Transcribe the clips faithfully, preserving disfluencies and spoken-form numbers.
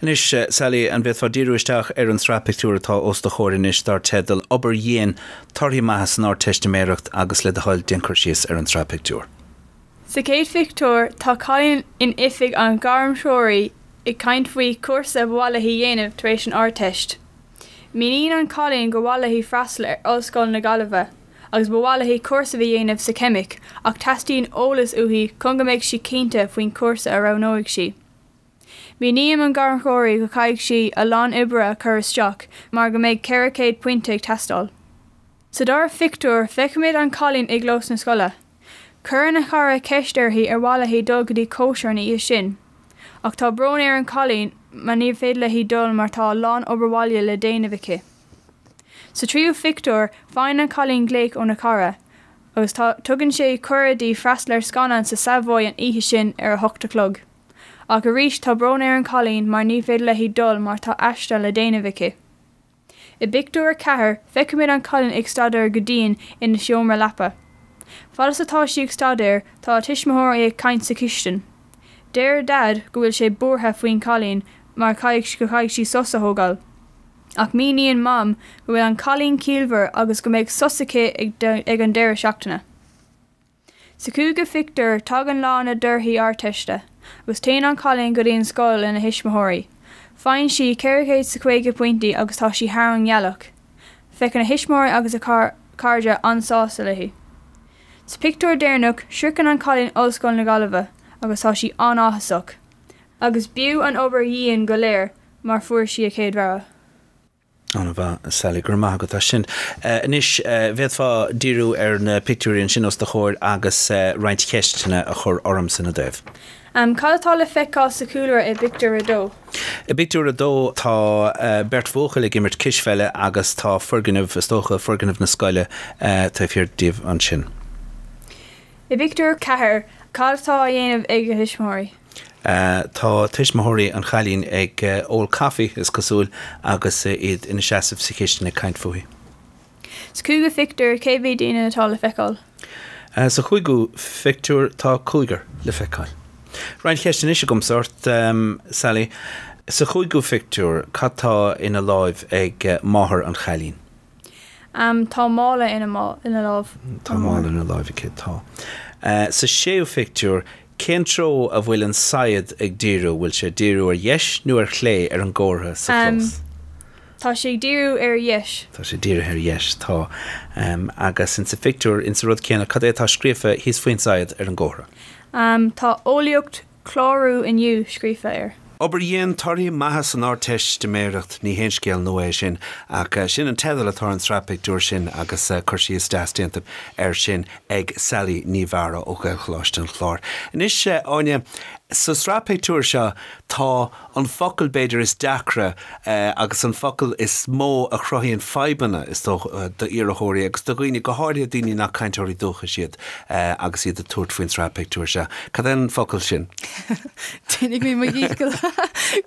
Anois Sally an bhféadfá díriú isteach ar an tsraith pictiúr atá os do chomhair anois dar teideal Obair Dhian torthaí maithe san Ardteistiméireacht agus le do thoil déan cur síos ar an tsraith pictiúr. Sa chéad phictiúr tá cailín in oifig an ghairmthreoraí ag caint faoi chúrsa ba mhaith léi dhéanamh tar éis an Ardteist. Míníonn an cailín gur mhaith léi freastal ar Ollscoil na Gaillimhe, agus ba mhaith léi cúrsa a dhéanamh sa cheimic ach teastaíonn eolas uaithi chun go mbeidh sí cinnte faoin cúrsa a roghnóidh sí. Míníonn an gairmthreoraí go gcaithfidh sí a lán oibre a chur isteach mar go mbeidh ceithre chéad pointe ag teastáil. Sa dara phictiúr feicimid an cailín i gclós na scoile. Cuireann a cara ceist uirthi ar mhaith léi dul go dtí cóisir an oíche sin. Ach tá brón ar an cailín mar ní féidir léi dul mar tá a lán obair bhaile le déanamh aici. Sa tríú phictiúr faigheann an cailín glaoch óna cara, agus tá tugann sé cuireadh di freastal ar scannán sa Savoy an oíche sin ar a hocht a chlog. Ach arís tá brón ar an cailín mar ní féidir léi dul mar tá aiste le déanamh aici. I bpictiúr a ceathair feicimid an cailín ag staidéar go dian ina seomra leapa. Fad is atá sí ag staidéar tá a tuismitheoirí ag caint sa chistin. Deir Dad go bhfuil sé buartha faoin cailín mar caithfidh go gcaithfidh sí sos a thógáil. Ach míníonn Mam go bhfuil an cailín ciallmhar agus go mbeidh sos aici ag an deireadh seachtaine. Sa cúigiú phictiúr tagann lá na dtorthaí Ardteiste, agus téann an cailín go dtí an scoil lena thuismitheoirí. Faigheann sí ceithre chéad is caoga pointí agus tá sí thar an ngealach. Féachann a thuismitheoirí agus a cairde an-sásta léi. Sa pictiúr deireanach sroicheann an cailín Ollscoil na Gaillimhe agus tá sí an-áthasach, agus b'fhiú an obair dhian go léir mar fuair sí a céad rogha. An-mhaith Sally go maith agat sin. Anois bhféadfá díriú ar na pictiúirí ansin os do chomhair agus roinnt ceisteanna a chur ormsa ina dtaobh. Um, cad atá le feiceáil sa chúlra i bpictiúr a dó. I bpictiúr a dó tá uh, beirt bhuachaill ag imirt cispheile agus tá foirgneamh is dócha foirgneamh na scoile uh, taobh thiar díobh ansin. I bpictiúr ceathair cad atá á dhéanamh ag a thuismitheoirí. Uh, tá tuismitheoirí an chailín ag uh, ól caife is cosúil agus uh, iad ina seasamh sa chistin ag caint fúithi. Sa cúigiú phictiúr cé mhéad duine atá le feiceáil. Uh, sa chúigiú phictiúr tá cúigear le feiceáil. Roinnt ceist anois agamsa ort um, Sally, sa chúigiú phictiúr cad tá ina láimh ag uh, máthair an chailín. Um, tá mála ina ina lámh. Tá mála ina láimh aici tá. Uh, sa séú phictiúr cén treo a bhfuil an saighead ag díriú bhfuil sé díriú ar dheis nó ar chlé ar an gcomhartha sa Um, chlós. Tá sé díriú ar dheis. Tá sé dírithe ar dheis tá um, agus in sa phictiúr in sa rud céanna cad é atá scríofa thíos faoin saighead ar an gcomhartha. Um, tá eolaíocht clárú inniu scríofa air. Obair dhian torthaí maithe san Ardteistiméireacht ní haon scéal nua é sin ach eh, sin an teideal atá an tsraith pictiúr sin agus eh, cur síos deas déanta air sin ag Sally Ní Mheára ó Ghaelcholáiste an Chláir. Anois Áine sa tsraith pictiúr seo tá an focal b'fhéidir is deacra eh, agus an focal is mó a chruthaíonn fadhbanna is d'iarrthóirí agus do dhaoine go háirithe daoine nach cainteoirí dúchais iad eh, agus iad ag tabhairt faoin tsraith pictiúr seo. Cad é an focal sin? Déanfaidh mé mo dhícheall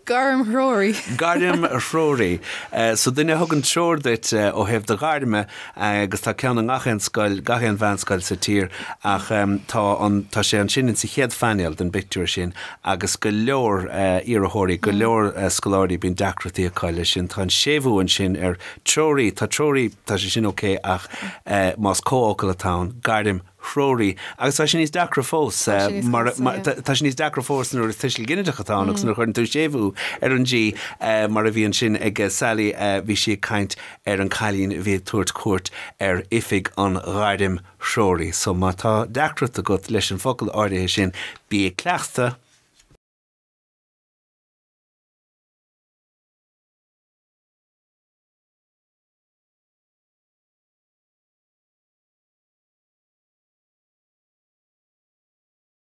gairmthreoraí. Gairmthreoraí. Uh, so duine a thugann treoir duit uh, ó thaobh do ghairme agus tá ceann i ngach aon scoil gach aon mheánscoil sa tír ach um, tá an tá sé ansin in sa chéad phainéal den bpictiúr sin agus go leor uh, iarrthóirí go leor uh, scoláirí bíonn deacrachtaí acu leis sin tá an séimhiú ansin ar treoraí tá treoraí tá sé sin ok ach uh, más comhfhocal atá ann gairmthreoraí agus tá sin níos deacra fós Tá sé níos mar casta, mar- yeah. tá tá sé níos deacra fós nuair is tuiseal ginideach atá ann agus nuair a chuireann tú séimhiú ar an G eh, mar a bhí ansin ag eh, Sally eh, bhí sí ag caint ar an cailín a bhí ag tabhairt cuairt ar oifig an ghairmthreoraí. So má tá deacracht agat leis an focal áirithe sin bí ag cleachtadh